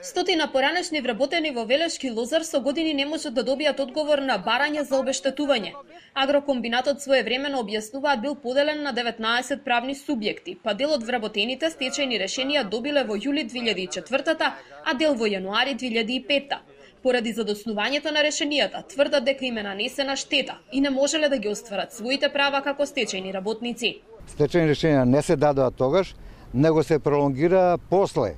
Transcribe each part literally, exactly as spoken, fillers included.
Стотина поранешни вработени во Велешки лозар со години не можат да добијат одговор на барање за обештетување. Агрокомбинатот своевремено објаснуваат бил поделен на деветнаесет правни субјекти, па дел од вработените стечајни решенија добиле во јули две илјади и четвртата, а дел во јануари две илјади и петта. Поради задоснувањето на решенијата, тврдат дека им е нанесена штета и не можеле да ги остварат своите права како стечајни работници. Стечајни решенија не се дадоа тогаш, него се пролонгира после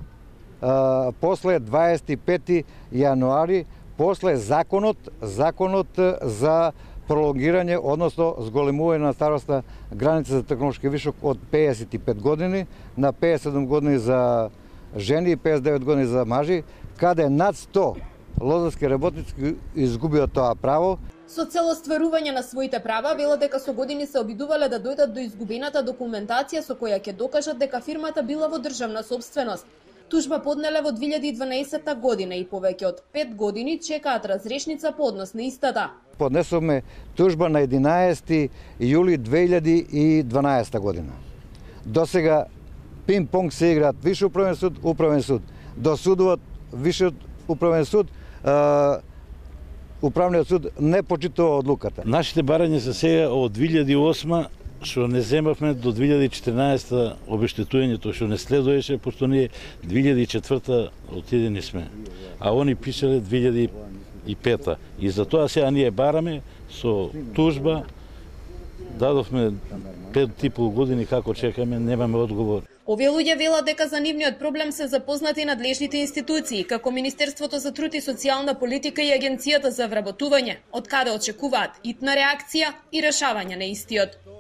Uh, после дваесет и пети јануари, после законот, законот за пролонгирање, односно зголемување на старосна граница за технолошки вишок од пеесет и пет години на пеесет и седум години за жени и пеесет и девет години за мажи, каде над сто лозарски работници изгубија тоа право. Со цел остварување на своите права, велат дека со години се обидувале да дојдат до изгубената документација со која ќе докажат дека фирмата била во државна собственост. Тужба поднеле во две илјади и дванаесетта година и повеќе од пет години чекаат разрешница по однос на истата. Поднесовме тужба на единаесети јули две илјади и дванаесетта година. До сега пинг-понг се играат Висши управен суд, Управен суд. Досудуваат Висшиот управен суд, е, Управниот суд не почитува одлуката. Нашите барања се сега од две илјади и осма што не земавме до две илјади и четиринаесетта обештетувањето што не следуеше, пошто ние две илјади и четвртта отидени сме, а они пишале две илјади и петта. И затоа сега ние бараме со тужба, дадовме пет и пол години како чекаме, немаме одговор. Овие луѓе велат дека за нивниот проблем се запознати надлежните институции, како Министерството за труд и социјална политика и Агенцијата за вработување, од каде очекуваат итна реакција и решавање на истиот.